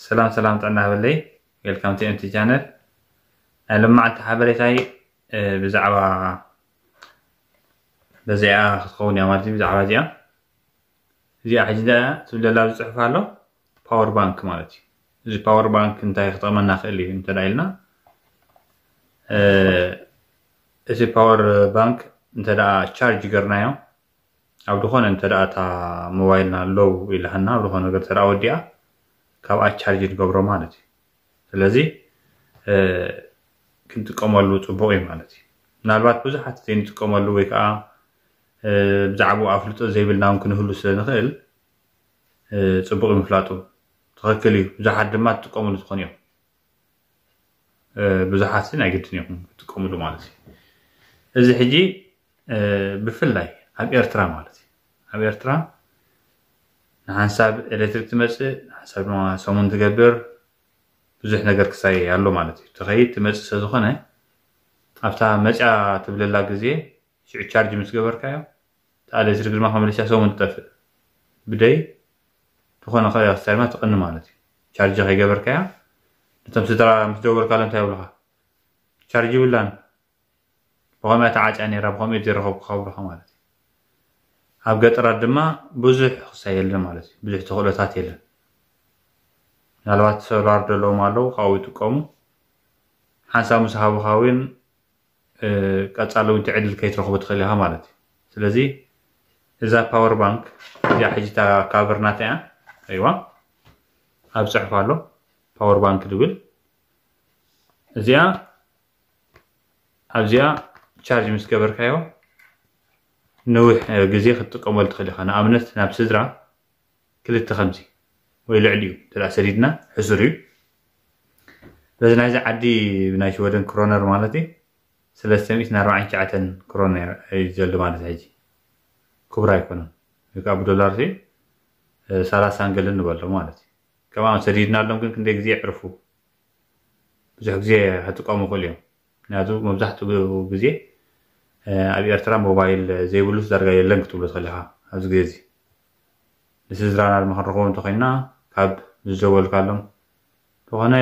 ሰላም ሰላም፣ ጥዕና በለይ። Welcome to M T channel። ናይ ሎማዓንቲ ሓበሬታይ ብዛዕባ በዚኣ ክትኸውን እያ ማለት እዩ። ብዛዕባ እዚኣ እዚኣ ሕጂ ትብለላ ዝፅሑፍ ኣሎ፣ ፓወር ባንክ ማለት እዩ። እዚ ፓወር ባንክ እንታይ ክጠቕመና ክእል እዩ እንተ ኢልና፣ እቲ ፓወር ባንክ እንተ ቻርጅ ገርናዮ ኣብ ዝኾነ እንተ እታ ሞባይልና ሎው ኢላሃና ኣብ ዝኾነ ነገር ተደኣ ወዲኣ ካብኣ ቻርጅ ንገብሮ ማለት እዩ። ስለዚ ክንጥቀመሉ ፅቡቕ እዩ ማለት እዩ። ምናልባት ብዙሓት ዘይንጥቀመሉ ወይ ከዓ ብዛዕባኡ ኣፍልጦ ዘይብልና እውን ክንህሉ ስለ ንኽእል ፅቡቕ እዩ ምፍላጡ። ትኽክል እዩ። ብዙሓት ድማ ትጥቀምሉ ትኾኑ እዮም። ብዙሓት ናይ ግድን እዮም ክጥቀምሉ ማለት እዩ። እዚ ሕጂ ብፍላይ ኣብ ኤርትራ ማለት እዩ። ኣብ ኤርትራ ንሓንሳብ ኤሌክትሪክ ትመፅእ፣ ንሓንሳብ ድማ ሰሙን ትገብር፣ ብዙሕ ነገር ክሳየ ኣሎ ማለት እዩ። ትኸይድ ትመፅእ ስለዝኾነ ኣብታ መፅያ ትብለላ ግዜ ሽዑ ቻርጅ ምስ ገበርካዮ እታ ኤሌክትሪክ ድማ ከመልስያ ሰሙን ትጠፍእ። ብደይ ዝኾነ ከ ክሳይ ድማ ትቐኒ ማለት እዩ። ቻርጅ ከይገበርካያ ነቶም ስድራ ምስ ደወልካሎም እንታይ ይብሉኻ? ቻርጅ ይብላን፣ ብኸምያ ተዓፅያ ነይራ፣ ብኸምኡ ዘይረኸብኩ ከብሉኻ ማለት እዩ። ኣብ ገጠራት ድማ ብዙሕ ክሳይ የለን ማለት እዩ። ብዙሕ ተኽእሎታት የለን። ምናልባት ሶላር ዘለዎም ኣለዉ፣ ካብኡ ይጥቀሙ። ሓንሳብ ምስ ሃቡኻ እውን ቀፃሊ እውን ትዕድል ከይትረኽቡ ትኽእል ኢኻ ማለት እዩ። ስለዚ እዛ ፓወር ባንክ እዚኣ ሕጂ እታ ካቨር ናታ እያ። ኣይዋ ኣብ ፅሑፍ ኣሎ ፓወር ባንክ ድብል እዚኣ ኣብዚኣ ቻርጅ ምስ ገበርካዮ ነዊሕ ግዜ ክትጥቀመሉ ትኽእል ኢኻ። ንኣብነት ናብ ስድራ ክልተ ከምዚ ወይ ልዕሊኡ እንተ ሰዲድና ሕሱር እዩ። በዚ ናይዚ ዓዲ ናይ ሽወደን ክሮነር ማለት እዩ ሰለስተ ሚእትን ኣርባዓን ትሽዓተን ክሮነር እዩ ዘሎ ማለት ሕጂ ክቡር ኣይኮነን። ወይ ከዓ ብዶላር ሲ ሰላሳ ንገልን ንበሎ ማለት እዩ። ከምኣ ሰዲድናሎም ግን ክንደይ ግዜ የዕርፉ? ብዙሕ ግዜ ክጥቀሙ ይኽእሉ እዮም። ምክንያቱ መብዛሕትኡ ግዜ ኣብ ኤርትራ ሞባይል ዘይብሉስ ዳርጋ የለን ክትብሎ ትኽእል ኢኻ ኣብዚ ግዜ እዚ። ንስድራና ድማ ክንረኽቦም እንተኾይንና ካብ ዝደወልካሎም ዝኾነ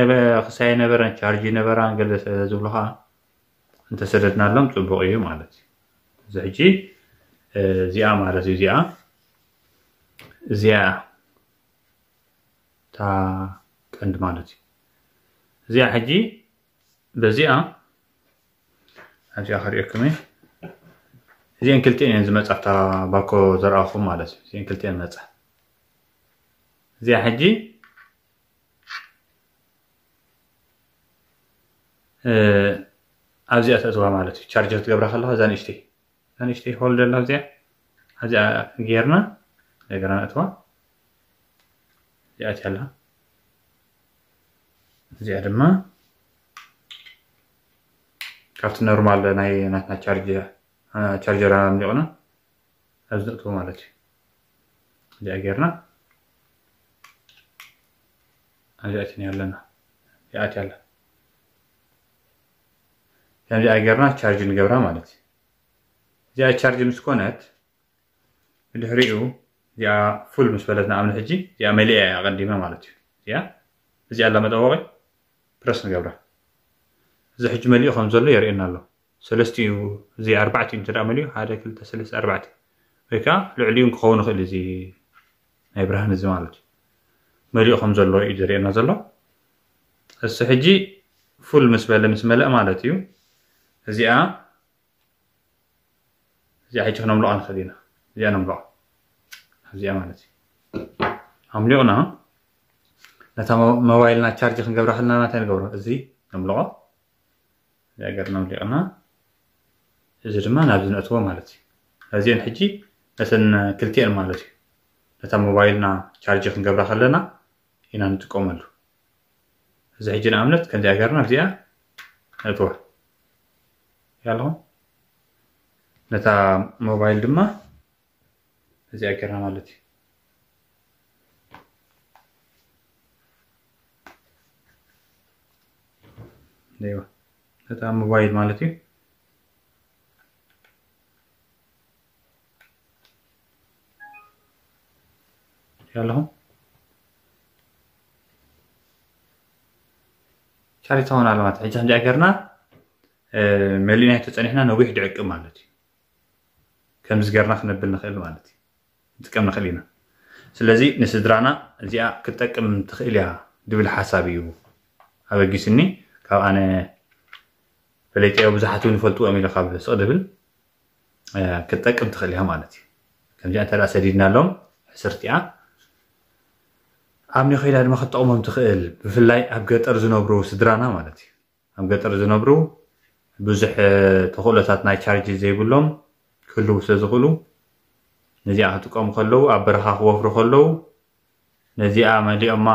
ክሳይ ነበረን ቻርጅ ነበራን ገለ ስለ ዝብሉ ከዓ እንተሰደድናሎም ፅቡቕ እዩ ማለት እዩ። እዚ ሕጂ እዚኣ ማለት እዩ እዚኣ እዚኣ እታ ቀንዲ ማለት እዩ። እዚኣ ሕጂ በዚኣ ኣብዚኣ ክሪኦኩም እየ። እዚአን ክልቲአን እየን ዝመፃ ኣብታ ባኮ ዘርኣኹም ማለት እዩ። እዚአን ክልቲአን መፃ። እዚኣ ሕጂ ኣብዚኣ ተእትዋ ማለት እዩ። ቻርጅ ክትገብራ ከለካ እዛ ንእሽተይ እዛ ንእሽተይ ሆል ዘላ እዚኣ ኣብዚኣ ጌርና እንደገና ነእትዋ። እዚኣ እቲያ ኣላ። እዚኣ ድማ ካብቲ ኖርማል ናይ ናትና ቻርጀር ኣምሊቑና ኣብዚ ነእትዎ ማለት እዩ። እዚኣ ጌርና ኣብዚኣ እቲና ኣለና። እዚኣ እቲያ ኣላ። ከምዚኣ ጌርና ቻርጅ ንገብራ ማለት እዩ። እዚኣ ቻርጅ ምስ ኮነት ብድሕሪኡ እዚኣ ፉል ምስ በለት ንኣብነት ሕጂ እዚኣ መሊኣ እያ ኣቐዲመ ማለት እዩ። እዚኣ እዚኣ ኣላ መጠወቒ ፕረስ ንገብራ። እዚ ሕጂ መሊኡ ከም ዘሎ የርእየና ኣሎ። ሰለስቲኡ እዚ ኣርባዕቲኡ እንተ ደኣ መሊኡ ሓደ ክልተ ሰለስተ ኣርባዕተ ወይ ከዓ ልዕሊኡ ክኸውን ይኽእል እዚ ናይ ብርሃን እዚ ማለት እዩ። መሊኡ ከም ዘሎ እዩ ዘርእየና ዘሎ። እሱ ሕጂ ፉል ምስ በለ ምስ መለእ ማለት እዩ። እዚኣ እዚኣ ሕጂ ክነምልቓ ንኽእል ኢና። እዚኣ ነምልቓ ኣብዚኣ ማለት እዩ። ኣምሊቕና ነታ ሞባይልና ቻርጅ ክንገብራ ከለና ናታይ ንገብሮ እዚ ነምልቖ እዚኣ ገርና ኣምሊቕና እዚ ድማ ናብዚ ነእትዎ ማለት እዩ። እዚአን ሕጂ ነተን ክልቲአን ማለት እዩ ነታ ሞባይልና ቻርጅ ክንገብራ ከለና ኢና ንጥቀመሉ። እዚ ሕጂ ንኣብነት ከምዚኣ ገርና እዚኣ ነእትዋ ያለኹ ነታ ሞባይል ድማ እዚኣ ገርና ማለት እዩ። ነታ ሞባይል ማለት እዩ ያለኹ ቻሪታውን ኣለማት ሕጂ ከምዚኣ ገርና መሊእናዮ ተፀኒሕና ነዊሕ ድዕቅብ ማለት እዩ። ከምዚ ገርና ክነብል ንኽእል ማለት እዩ። ንጥቀም ንኽእል ኢና። ስለዚ ንስድራና እዚኣ ክትጠቅም ትኽእል እያ ድብል ሓሳብ እዩ ኣበጊስኒ። ካብ ኣነ ፈለጥዮ ብዙሓት እውን ይፈልጥዎም ኢለ ካብ ስቕ ድብል ክትጠቅም ትኽእል እያ ማለት እዩ። ከምዚኣ እንተ ሰዲድናሎም ሕስርቲኣ ኣብ ኒኸይዳ ድማ ክትጠቕሞም ትኽእል፣ ብፍላይ ኣብ ገጠር ዝነብሩ ስድራና ማለት እዩ። ኣብ ገጠር ዝነብሩ ብዙሕ ተኽእሎታት ናይ ቻርጅ ዘይብሎም ክህልው ስለ ዝኽእሉ ነዚኣ ክጥቀሙ ከለዉ ኣብ በረኻ ክወፍሩ ከለዉ ነዚኣ መሊኦማ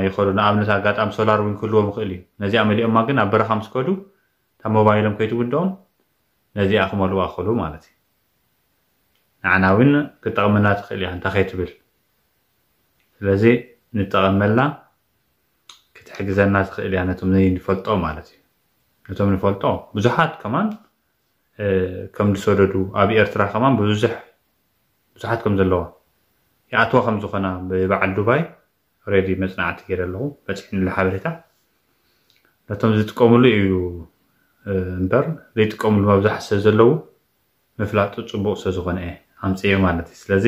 ይኸዱ። ንኣብነት ኣጋጣሚ ሶላር እውን ክህልዎም ይኽእል እዩ። ነዚኣ መሊኦማ ግን ኣብ በረኻ ምስ ከዱ እታ ሞባይሎም ከይትውድኦም ነዚኣ ክመልዋ ክኽእሉ ማለት እዩ። ንዓና እውን ክጠቕመና ትኽእል እያ እንታይ ከይትብል። ስለዚ ንጠቐመላ ክትሕግዘና ትኽእል እያ ነቶም ዘይንፈልጦ ማለት እዩ። ነቶም ንፈልጦ ብዙሓት ከማን ከም ዝሰደዱ ኣብ ኤርትራ ከማን ብዙሕ ብዙሓት ከም ዘለዋ ይኣትዋ ከም ዝኾና ብበዓል ዱባይ ሬዲ መፅናዕቲ ገይረ ኣለኹ በፂሕኒ ሓበሬታ ነቶም ዝጥቀምሉ እዩ እምበር ዘይጥቀምሉ መብዛሕ ስለ ዘለዉ ምፍላጡ ፅቡቅ ስለ ዝኾነ እየ ኣምፅዮ ማለት እዩ። ስለዚ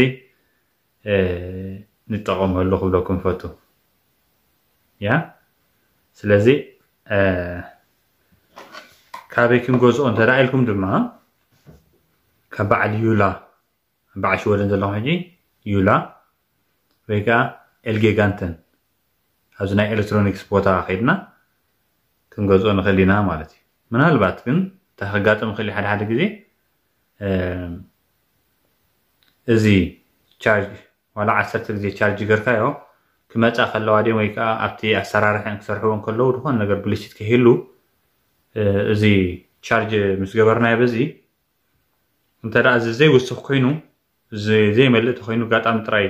ንጠቐመሉ ክብለኩም ፈቱ ያ ስለዚ ካበይ ክንገዝኦ እንተ ኢልኩም ድማ ካብ በዓል ዩላ በዓል ሽወደን ዘለኹም ሕጂ ዩላ ወይ ከዓ ኤልጌጋንተን ኣብዚ ናይ ኤሌክትሮኒክስ ቦታ ከይድና ክንገዝኦ ንኽእል ኢና ማለት እዩ። ምናልባት ግን እንታይ ከጋጥም ይኽእል ሓደ ሓደ ግዜ እዚ ቻርጅ ዋላ ዓሰርተ ግዜ ቻርጅ ገርካዮ ክመፃ ከለዋ ድዮም ወይ ከዓ ኣብቲ ኣሰራርሐን ክሰርሕዎ ከለዉ ዝኾነ ነገር ብልሽት ከይህሉ እዚ ቻርጅ ምስ ገበርናዮ በዚ እንተ ደኣ እዚ ዘይውስኽ ኮይኑ እዚ ዘይመልእ ተኮይኑ ኣጋጣሚ ጥራይ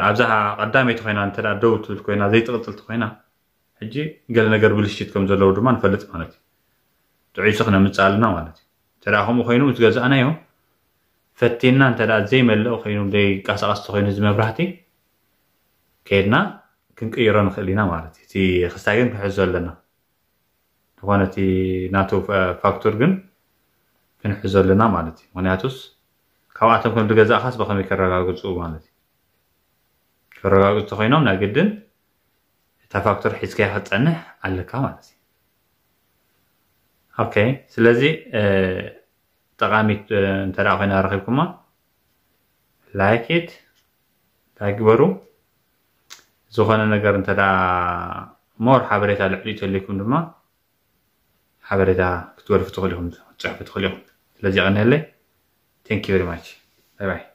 ኣብዛ ቀዳመይቲ ኮይና እንተ ደኣ ደው ትብል ኮይና ዘይትቕፅል ተኮይና ሕጂ ገለ ነገር ብልሽት ከም ዘለዉ ድማ ንፈልጥ ማለት እዩ። ጥዑይ ስኽ ነምፅእ ኣለና ማለት እዩ። እንተ ደኣ ከምኡ ኮይኑ ምስ ገዛእናዮ ፈቲና እንተ ደኣ ዘይመልእ ኮይኑ ዘይንቀሳቐስ ተኮይኑ እዚ መብራህቲ ከይድና ክንቅይሮ ንኽእል ኢና ማለት እዩ። እቲ ክስታይ ግን ክንሕዞ ኣለና። ዝኾነ እቲ ናቱ ፋክቱር ግን ክንሕዞ ኣለና ማለት እዩ። ምክንያቱስ ካብኣቶም ከም ዝገዛእኻስ ብኸመይ ከረጋግፁ ማለት እዩ። ከረጋግፁ ተኮይኖም ናይ ግድን እታ ፋክቱር ሒዝካያ ክትፀንሕ ኣለካ ማለት እዩ። ኦኬ ስለዚ ጠቃሚት እንተ ኮይና ረኺብኩማ ላይክ ኢት እንታይ ግበሩ ዝኾነ ነገር እንተ ሞር ሓበሬታ ልዕሊ ተልኩም ድማ ሓበሬታ ክትወልፉ ትኽእሉ ኢኹም ክትፅሕፉ ትኽእሉ ኢኹም። ስለዚ ቀኒለይ። Thank you very much. Bye bye.